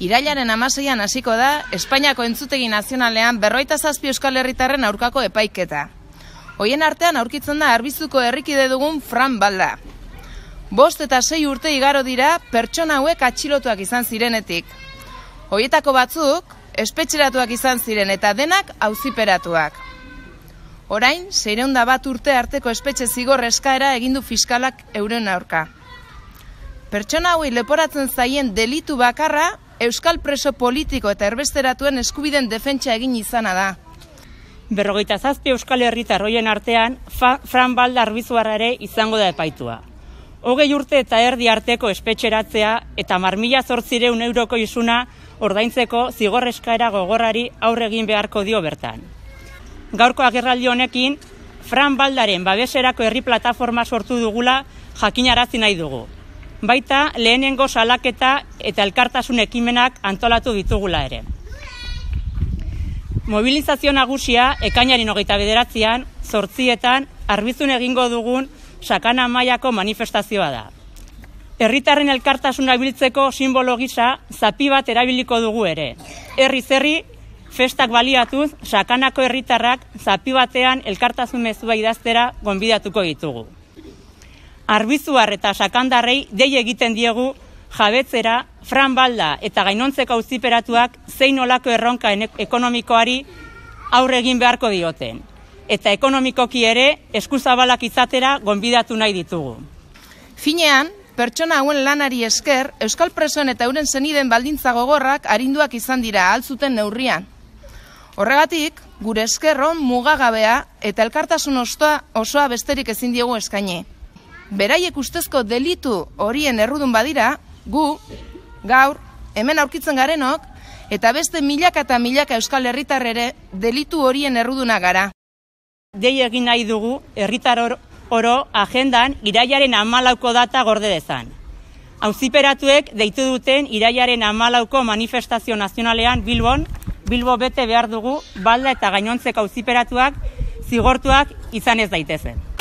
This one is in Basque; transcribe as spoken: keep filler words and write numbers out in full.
Irailaren hamaseian hasiko da Espainiako Entzutegi Nazionalean berrogeita zazpi euskal herritarren aurkako epaiketa. Hoien artean aurkitzen da Arbizuko herrikide dugun Fran Balda. Bost eta sei urte igaro dira pertsona hauek atxilotuak izan zirenetik. Hoietako batzuk espetxeratuak izan ziren eta denak auziperatuak. Orain, seiehun eta bat urte arteko espetxe zigor eskaera egin du fiskalak euren aurka. Pertsona hauei leporatzen zaien delitu bakarra euskal preso politiko eta erbesteratuen eskubiden defentsa egin izana da. Berrogeita zazpi euskal herritar hoien artean, Fran Balda Arbizuarra ere izango da epaitua. Hogei urte eta erdi arteko espetxeratzea eta mar mila zortziehun euroko isuna ordaintzeko zigor eskaera gogorrari aurre egin beharko dio bertan. Gaurko agerraldi honekin, Fran Baldaren babeserako herri plataforma sortu dugula jakinarazi nahi dugu. Baita lehenengo salaketa eta elkartasun ekimenak antolatu ditugula ere. Mobilizazio nagusia ekainaren hogeita bederatzian, zortzietan, Arbizun egingo dugun sakana mailako manifestazioa da. Herritarren elkartasuna biltzeko sinbolo gisa zapi bat erabiliko dugu ere. Herriz herri, festak baliatuz, sakanako herritarrak zapi batean elkartasun mezua idaztera gonbidatuko ditugu. Arbizuar eta sakandarrei dei egiten diegu jabetzera Fran Balda eta gainontzeko auziperatuak zein olako erronka ekonomikoari aurre egin beharko dioten. Eta ekonomikoki ere eskuzabalak izatera gonbidatu nahi ditugu. Finean, pertsona hauen lanari esker, euskal presoen eta euren seniden baldintza gogorrak arinduak izan dira altzuten neurrian. Horregatik, gure eskerron mugagabea eta elkartasun osoa, osoa besterik ezin diegu eskaini. Beraiek ustezko delitu horien errudun badira, gu, gaur, hemen aurkitzen garenok, eta beste milaka eta milaka euskal herritar ere delitu horien erruduna gara. Dei egin nahi dugu, herritar oro agendan irailaren hamalauko data gorde dezan. Auziperatuek deitu duten irailaren hamalauko manifestazio nazionalean Bilbon, Bilbo bete behar dugu Balda eta gainontzeko auziperatuak zigortuak izan ez daitezen.